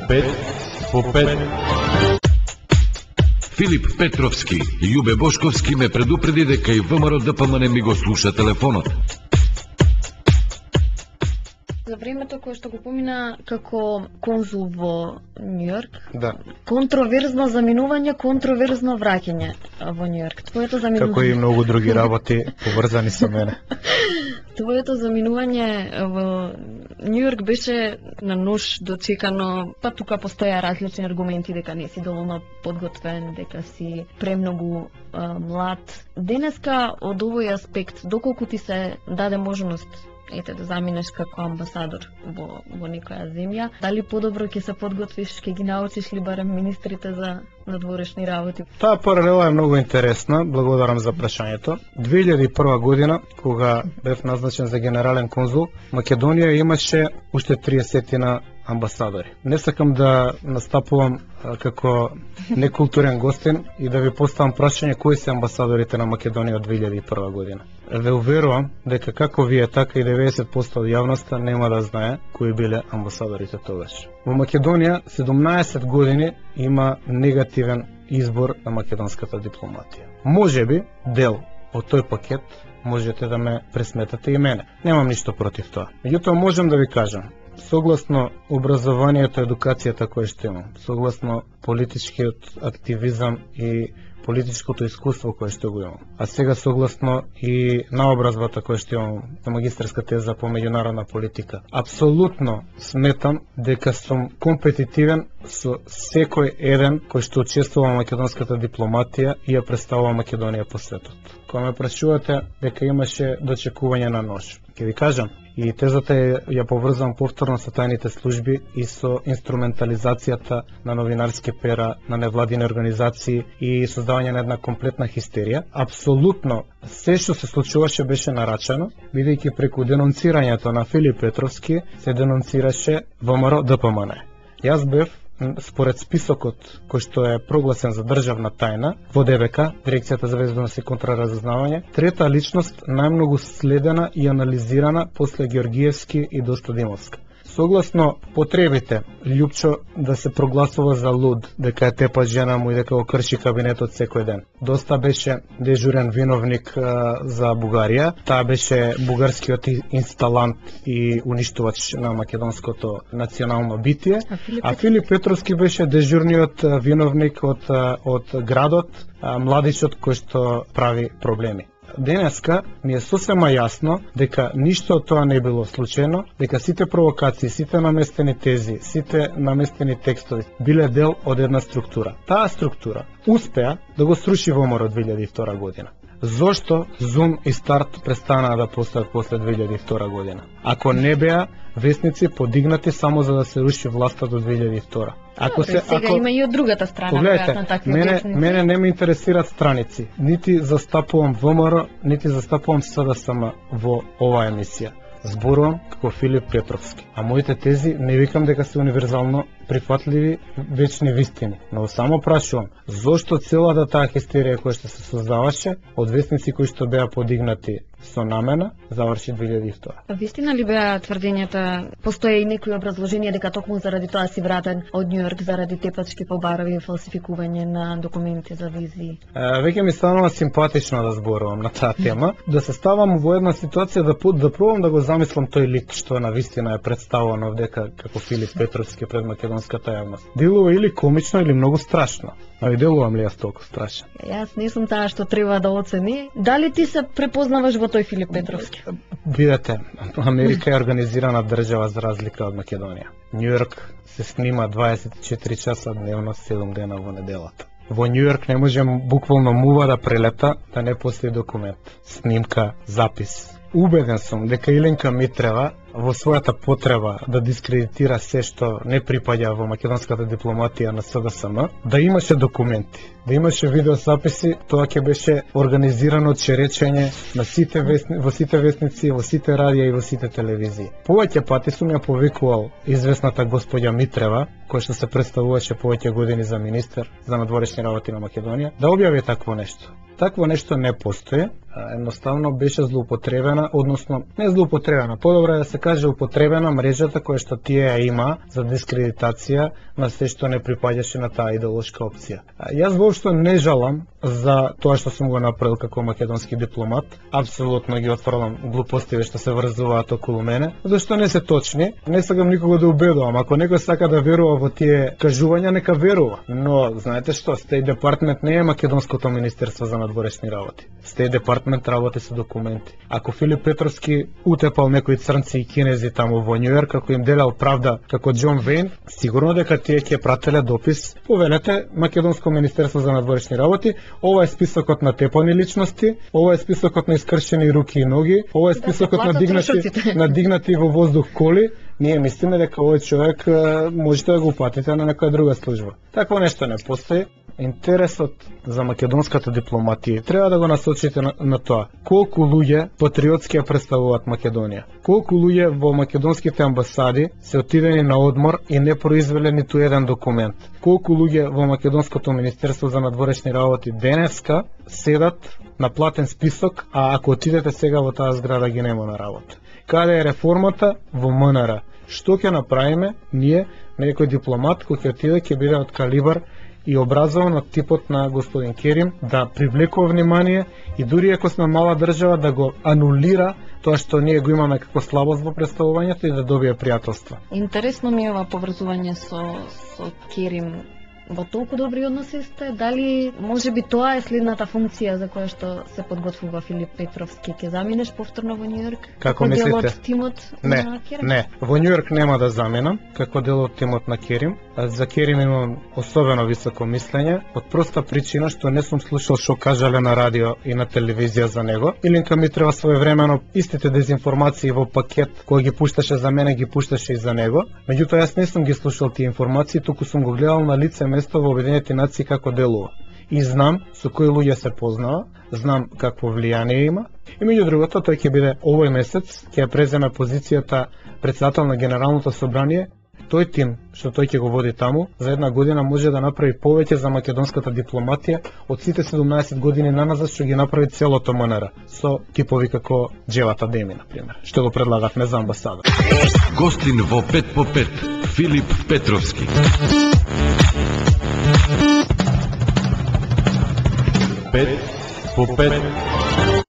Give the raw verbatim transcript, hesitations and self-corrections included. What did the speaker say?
пет по пет. Филип Петровски и Јубе Бошковски ме предупреди дека и ВМРО ДПМН ми го слуша телефонот. За времето кое што го помина како конзул во Њујорк, Да. контроверзно заминување, контроверзно враќање во Њујорк. Твоето заминување... Како и многу други работи поврзани со мене. Твоето заминување во Њујорк беше на нож дочекано, па тука постоја различни аргументи дека не си доволно подготвен, дека си премногу а, млад. Денеска од овој аспект, доколку ти се даде можност ете да заминеш како амбасадор во, во некоја земја, дали подобро ќе се подготвиш, ќе ги научиш ли барем министрите за надворешни работи? Таа паралела е многу интересна, благодарам за прашањето. две илјади и прва година, кога бев назначен за генерален конзул, Македонија имаше уште триесет амбасадори. Не сакам да настапувам а, како некултурен гостин и да ви поставам прашање кои се амбасадорите на Македонија од две илјади и прва година. Ве уверувам дека како вие, така и деветдесет проценти од јавноста нема да знае кои биле амбасадорите тогаш. Во Македонија седумнаесет години има негативен избор на македонската дипломатија. Можеби дел од тој пакет можете да ме пресметате и мене. Немам ништо против тоа. Меѓутоа можам да ви кажам, согласно образованието, едукацијата која што имам, согласно политичкиот активизам и политичкото искуство кое што го имам, а сега согласно и наобразбата која што имам на магистерска теза по меѓународна политика, апсолутно сметам дека сум компетитивен со секој еден кој што учествува во македонската дипломатија и ја представува Македонија по светот. Кога ме прашувате дека имаше дочекување на нож, ќе ви кажам, и тезата ја, ја поврзам повторно со тајните служби и со инструментализацијата на новинарски пера, на невладини организации и создавање на една комплетна хистерија. Апсолутно се што се случуваше беше нарачано, бидејќи преку денонцирањето на Филип Петровски се денонцираше ВМРО ДПМН. Јас бев според списокот кој што е прогласен за државна тајна во Д Б К, Дирекцијата за безбедност и контраразузнавање, трета личност најмногу следена и анализирана после Георгиевски и Достодимовска. Согласно потребите Лјупчо да се прогласува за луд, дека е тепа жена му и дека го крши кабинетот секој ден. Доста беше дежурен виновник а, за Бугарија. Таа беше бугарскиот инсталант и уништувач на македонското национално битие. А Филип, а Филип Петровски беше дежурниот виновник од, од градот, а, младичот кој што прави проблеми. Денеска ми е сосема јасно дека ништо од тоа не било случајно, дека сите провокации, сите наместени тези, сите наместени текстови биле дел од една структура. Таа структура успеа да го сруши ВМРО две илјади и втора година. Зошто Зум и Старт престанаа да постојат после две илјади и втора година? Ако не беа весници подигнати само за да се руши власта до две илјади и втора. Ако Добре, се сега ако има и од другата страна, погледайте, на такви мене весници. мене не ме интересираат страници. Нити застапувам ВМРО, нити застапувам С Д С М во оваа емисија. Зборувам како Филип Петровски. А моите тези не викам дека се универзално прифатливи вечни вистини, но само прашувам зошто целата таа хистерија која што се создаваше од весници кои што беа подигнати со намена заврши две илјади и втора. Вистина ли беа тврдењата, постоje и некои образложенија дека токму заради тоа си вратен од Њујорк, заради тепачки по барови и фалсификување на документи за визи? Е, веќе ми станува симпатично да зборувам на таа тема, да се ставам во една ситуација да да пробам да го замислам тој лик што на вистина е представуван овдека како Филип Петровски пред македонската јавност. Делува или комично или многу страшно. А ви делувам ли јас толку страшно? Јас не сум таа што треба да оцени. Дали ти се препознаваш во тој Филип Петровски? Видете, Америка е организирана држава за разлика од Македонија. Њујорк се снима дваесет и четири часа дневно, седум дена во неделата. Во Њујорк не можем буквално мува да прелета да не постои документ, снимка, запис. Убеден сум дека Иленка Митрева во својата потреба да дискредитира се што не припаѓа во македонската дипломатија на С Д С М, да имаше документи, да имаше видеозаписи, тоа ќе беше организирано черечење на сите весни, во сите весници, во сите радија и во сите телевизии. Повеќе пати сум ја повикувал известната господја Митрева, која што се представуваше повеќе години за министер за надворешни работи на Македонија, да објави такво нешто. Такво нешто не постои Едноставно беше злоупотребена, односно не злоупотребена, подобро е да се каже употребена мрежата која што тие ја има за дискредитација на се што не припаѓаше на таа идеолошка опција. Јас воопшто не жалам за тоа што сум го направил како македонски дипломат. Апсолутно ги отфрлам глупостиве што се врзуваат околу мене, зашто не се точни. Не сакам никого да убедувам. Ако некој сака да верува во тие кажувања, нека верува. Но знаете што, Стејт департмент не е македонското министерство за надворешни работи. Стејт департмент работи со документи. Ако Филип Петровски утепал некои црнци и кинези таму во Њујорк, како им делал правда како Џон Вейн, сигурно дека тие ќе прателе допис: повелете Македонско министерство за надворешни работи, ова е списокот на тепани личности, ова е списокот на искршени руки и ноги, ова е списокот на дигнати, на дигнати во воздух коли. Ние мислиме дека овој човек можете да го упатите на некоја друга служба. Такво нешто не постои. Интересот за македонската дипломатија треба да го насочите на, на тоа колку луѓе патриотски ја представуваат Македонија. Колку луѓе во македонските амбасади се отидени на одмор и не произвеле ниту еден документ. Колку луѓе во македонското министерство за надворешни работи денеска седат на платен список, а ако отидете сега во таа зграда ги нема на работа. Каде е реформата? Во М Н Р. Што ќе направиме ние, некој дипломат кој ќе отиде ќе биде од калибар и образован од типот на господин Керим, да привлекува внимание и дури ако сме мала држава да го анулира тоа што ние го имаме како слабост во представувањето и да добие пријателство. Интересно ми е ова поврзување со, со Керим. Во толку добри односи сте, дали може би тоа е следната функција за која што се подготвува Филип Петровски? Ќе заминеш повторно во Њујорк? Како дел мислите? од тимот не, на Керим? Не, во Њујорк нема да заминам како дел од тимот на Керим. За Керим имам особено високо мислење, од проста причина што не сум слушал што кажале на радио и на телевизија за него. Илинка ми треба своевремено истите дезинформации во пакет кој ги пушташе за мене, ги пушташе и за него. Меѓутоа јас не сум ги слушал тие информации, туку сум го гледал на лице место во Обединените нации како делува. И знам со кои луѓе се познава, знам какво влијание има. И меѓу другото, тој ќе биде овој месец, ќе преземе позицијата председател на Генералното собрание. Тој тим што тој ќе го води таму, за една година може да направи повеќе за македонската дипломатија од сите седумнаесет години наназад што ги направи целото М Н Р, со типови како Джевата Деми, например, што го предлагавме за амбасада. Гостин во пет по пет, Филип Петровски. пет по пет.